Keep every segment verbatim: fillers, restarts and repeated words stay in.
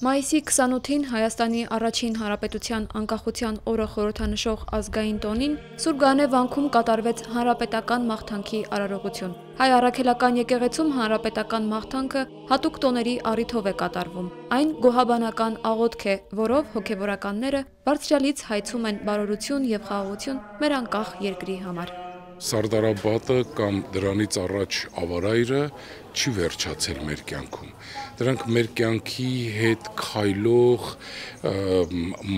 Մայիսի քսանութին Հայաստանի առաջին հանրապետության անկախության օրը խորհրդանշող ազգային տոնին Սուրբ Գայանե վանքում կատարվեց հանրապետական մաղթանքի արարողություն։ Հայ առաքելական եկեղեցում հանրապետական մաղթանքը հատուկ տոների առիթով է կատարվում։ Այն գոհաբանական աղոթք է, որով հոգևորականները Բարձրյալից հայցում են բարօրություն եւ խաղաղություն մեր անկախ երկրի համար։ Սարդարապատը կամ դրանից առաջ ավարայրը չի վերջացել մեր կյանքում։ Դրանք մեր կյանքի հետ քայլող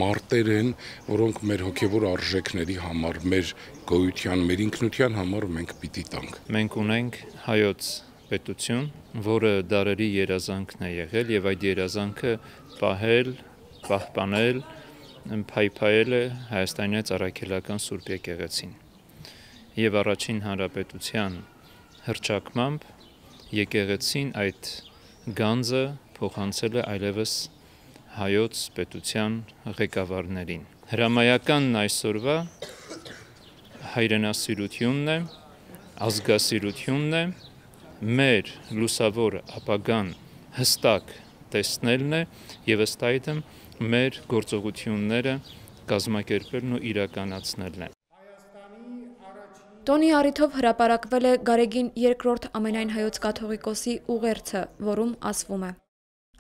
մարտեր են, որոնք մեր հոգևոր արժեքների համար, մեր գոյության, մեր ինքնության համար մենք պիտի տանք։ Մենք ունենք հայոց պետություն, որը դարերի երազանքն է եղել եւ այդ երազանքը պահել, պահպանել, փայփայել է Հայաստանյան առաքելական Սուրբ եկեղեցին։ Եվ առաջին հանրապետության հռչակմամբ եկեղեցին այդ գանձը փոխանցել է այլևս հայոց պետության ղեկավարներին։ Հրամայականն այսօրվա հայրենասիրությունն է, ազգասիրությունն է, մեր լուսավոր ապագան հստակ տեսնելն է եւ ըստ այդմ մեր գործողությունները կազմակերպելն ու իրականացնելն է։ Տոնի առիթով հրապարակվել է Գարեգին երկրորդ ամենայն հայոց կաթողիկոսի ուղերձը, որում ասվում է.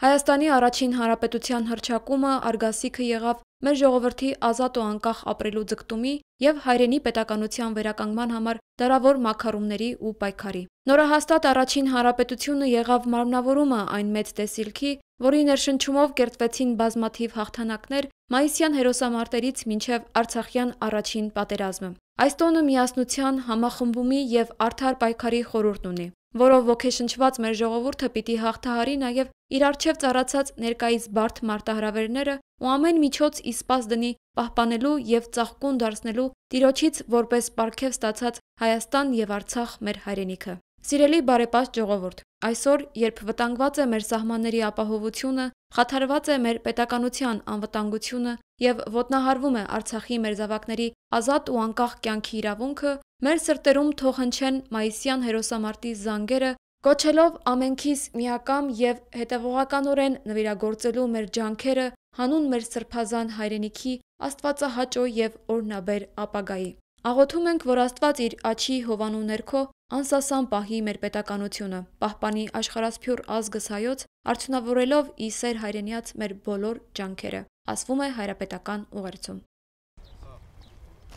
Հայաստանի առաջին հանրապետության հռչակումը արգասիքը եղավ մեր ժողովրդի ազատ ու անկախ ապրելու ձգտումի եւ հայրենի պետականության վերականգնման համար դարավոր մաքարումների ու պայքարի։ Նորահաստատ առաջին հանրապետությունը եղավ մարմնավորումը այն մեծ տեսիլքի, որի ներշնչումով կերտվեցին բազմաթիվ հաղթանակներ մայիսյան հերոսամարտերից մինչև Արցախյան առաջին պատերազմը։ Այս տոնը միասնության, համախմբումի եւ արդար պայքարի խորհուրդ ունի, որով ոգեշնչված մեր ժողովուրդը պիտի հաղթահարի նաեւ իր առջև ծառացած ներկայիս բարդ մարտահրավերները ու ամեն միջոց ի սպաս դնի պահպանելու եւ ծաղկուն դարձնելու Տիրոջից որպես պարգև ստացած Հայաստան եւ Արցախ մեր հայրենիքը։ Սիրելի բարեպաշտ ժողովուրդ, այսօր, երբ վտանգված է մեր սահմանների ապահովությունը, խաթարված է մեր պետականության անվտանգությունը եւ ոտնահարվում է Արցախի մեր զավակների ազատ ու անկախ կյանքի իրավունքը, մեր սրտերում թող հնչեն մայիսյան հերոսամարտի զանգերը, կոչելով ամենքիս միակամ եւ հետեւողականորեն նվիրագործելու մեր ջանքերը հանուն մեր սրբազան հայրենիքի աստվածահաճո եւ օրհնաբեր ապագայի։ Աղոթում ենք, որ Աստված իր աջի հովանու ներքո անսասան պահի մեր պետականությունը, պահպանի աշխարհասփյուռ ազգս հայոց, արդյունավորելով ի սեր հայրենիած մեր բոլոր ջանքերը, ասվում է հայրապետական ուղերձում։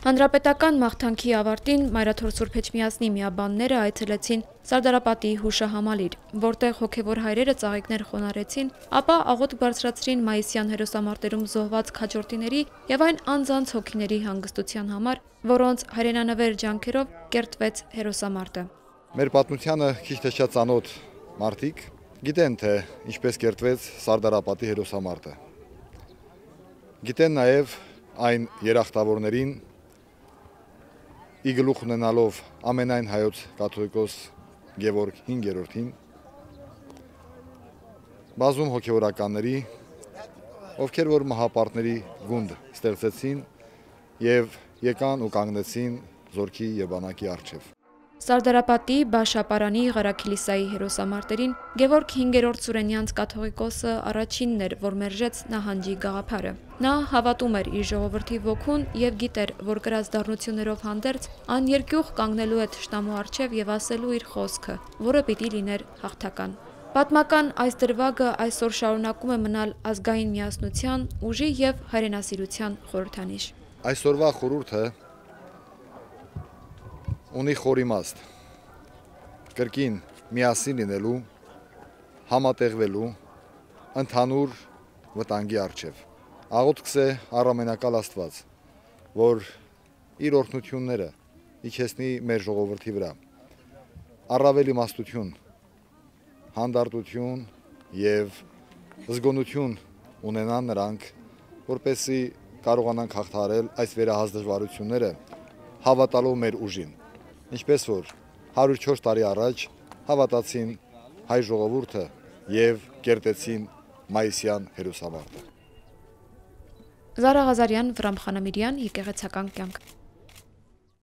Հանրապետական մաղթանքի ավարտին Մայրաթոր Սուրբ Էջմիածնի միաբանները այցելեցին Սարդարապատի հուշահամալիր, որտեղ հոգևոր հայրերը ծաղիկներ խոնարհեցին, ապա աղոթք բարձրացրին մայիսյան հերոսամարտերում զոհված քաջորդիների եւ այն անձանց հոգիների հանգստության համար, որոնց հայրենանվեր ջանքերով կերտվեց հերոսամարտը։ Մեր պատմությանը քիչ թե շատ ծանոթ մարդիկ գիտեն, թե ինչպես կերտվեց Սարդարապատի հերոսամարտը։ Գիտեն նաեւ այն երախտավորներին ի գլուխ ունենալով ամենայն հայոց կաթողիկոս Գևորգ հինգերորդին, բազում հոգևորականների, ովքեր որ մահապարտների գունդ ստեղծեցին եւ եկան ու կանգնեցին զորքի եւ բանակի առջեւ։ Սարդարապատի Բաշապարանի Ղարաքիլիսայի հերոսամարտերին Գևորգ հինգերորդ Սուրենյանց կաթողիկոսը առաջինն էր, որ մերժեց նահանջի գաղափարը։ Նա հավատում էր իր ժողովրդի ոգուն եւ գիտեր, որ կրած դառնություններով հանդերձ աներկյուղ կանգնելու է թշնամու առջեւ եւ ասելու իր խոսքը, որը պիտի լիներ հաղթական։ Պատմական այս դրվագը այսօր շարունակում է մնալ ազգային միասնության, ուժի եւ հայրենասիրության խորհրդանիշ։ Այսօրվա խորհուրդը ունի խոր իմաստ, կրկին միասին լինելու, համատեղվելու, ընդհանուր վտանգի առջև։ Աղոթքս է առամենակալ Աստված, որ իր օրհնությունները իջեցնի մեր ժողովրդի վրա, առավել իմաստություն, հանդարտություն եւ զգոնություն ունենան նրանք, որպեսզի կարողանանք հաղթահարել այս վերահաս դժվարությունները, հավատալով մեր ուժին։ Ինչպես որ հարյուր չորս տարի առաջ հավատացին հայ ժողովուրդը եւ կերտեցին մայիսյան հերոսամարտը։ Զարա Ղազարյան, Վրամ Խանամիրյան, Եկեղեցական կյանք։